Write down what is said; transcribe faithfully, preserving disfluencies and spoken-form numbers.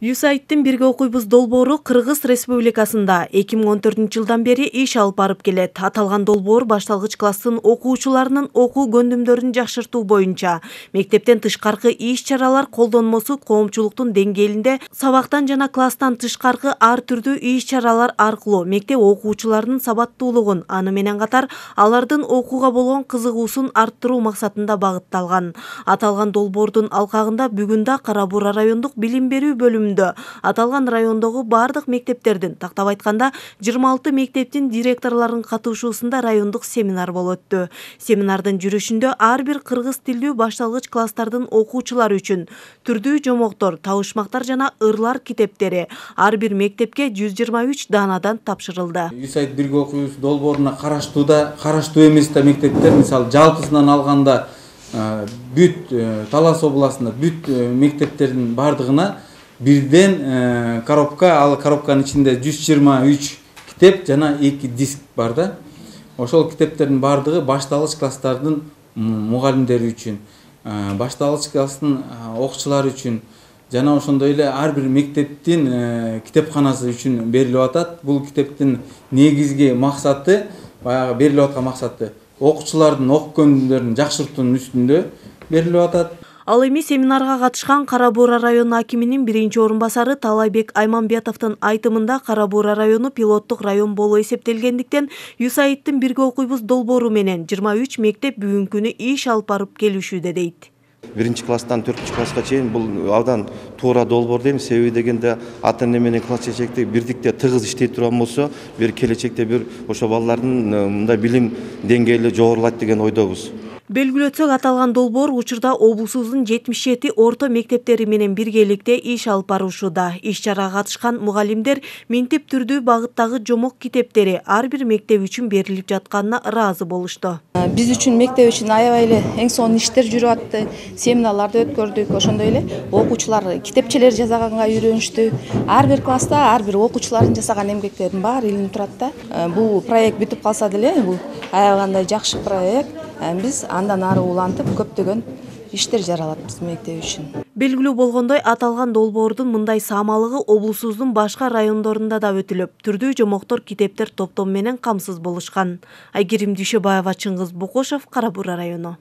ЮСАИДтин бирге окуйбуз долбоору Кыргыз Республикасында эки миң он төртүнчү жылдан бери иш алып барып келет. Аталган долбоор башталгыч класстын окуучуларынын окуу көндүмдөрүн жакшыртуу боюнча мектептен тышкаркы иш-чаралар колдонмосу коомчулуктун деңгээлинде сабактан жана класстан тышкаркы ар түрдүү иш-чаралар аркылуу мектеп окуучуларынын сабаттуулугун, аны менен катар алардын окууга болгон кызыгуусун арттыруу максатында багытталган. Аталган долбоордун алкагында бүгүн да Кара Буура райондук билим берүү бөлүмү аталган райондогу бардык мектептердин, тактап айтканда жыйырма алты мектептин директорлорунун катышуусунда райондук семинар болуп өттү. Семинардын жүрүшүндө ар бир кыргыз тилдүү башталгыч класстардын окуучулары үчүн түрдүү жомоктор, табышмактар жана ырлар китептери ар бир мектепке жүз жыйырма үч даанадан тапшырылды. ЮСАИД бирге окуйбуз долбооруна караштууда, караштуу эмес да мектептер, мисалы жалпысынан алганда бүт Талас областында бүт мектептердин бардыгына бирден коробка, ал коробканын ичинде жүз жыйырма үч китеп жана эки диск бар да. Ошол китептердин бардыгы башталгыч класстардын мугалимдери үчүн, башталгыч класстын окуучулары үчүн жана ошондой эле ар бир мектептин китепканасы үчүн берилип атат. Бул китептин негизги максаты, баягы берилип аткан максаты окуучулардын окуу көндүмдөрүн жакшыртуунун үстүндө берилип атат. Ал эми семинарга катышкан Кара Буура району акиминин биринчи орун басары Талайбек Айманбетовдун айтымында Кара Буура району пилоттук район болуп эсептелгендиктен ЮСАИДтин бирге окуйбуз долбоору менен жыйырма үч мектеп бүгүнкү күнү иш алып барып келишүүдө дейт. Биринчи класстан төртүнчү класска чейин бул абдан туура долбоор дейм. Себеби дегенде ата эне менен класс чечекте бирдикте тыгыз иштей турган болсо, бир келечекте бир ошо балдардын мындай билим деңгээли жогорулайт деген ойдобуз. Белгилөтсөк, аталган долбоор учурда облусубуздун жетимиш жети орто мектептери менен биргеликте иш алып барышууда. Иш-чарага катышкан мугалимдер минтип түрдүү багыттагы жомок китептери ар бир мектеп үчүн берилип жатканына ыраазы болушту. Биз үчүн мектеп үчүн аябай эле эң сонун иштер жүрүп атты. Семинарларды өткөрдүк, ошондой эле окуучулар китепчелер жасаганга үйрөнүштү. Ар бир класста ар бир окуучулардын жасаган эмгектеринин баары илинип турат да. Бул проект бүтүп калса деле, бул аябагандай жакшы проект. Биз андан ары улантып көптөгөн иштер жаралат биздин мектеп үчүн. Белгилүү болгондой, аталган долбоордун мындай саамалыгы облусубуздун башка райондорунда да өтүлүп, түрдүү жомоктор, китептер топтом менен камсыз болушкан. Айгерим Дүйшөбаева, Чыңгыз Бокошов, Кара Буура району.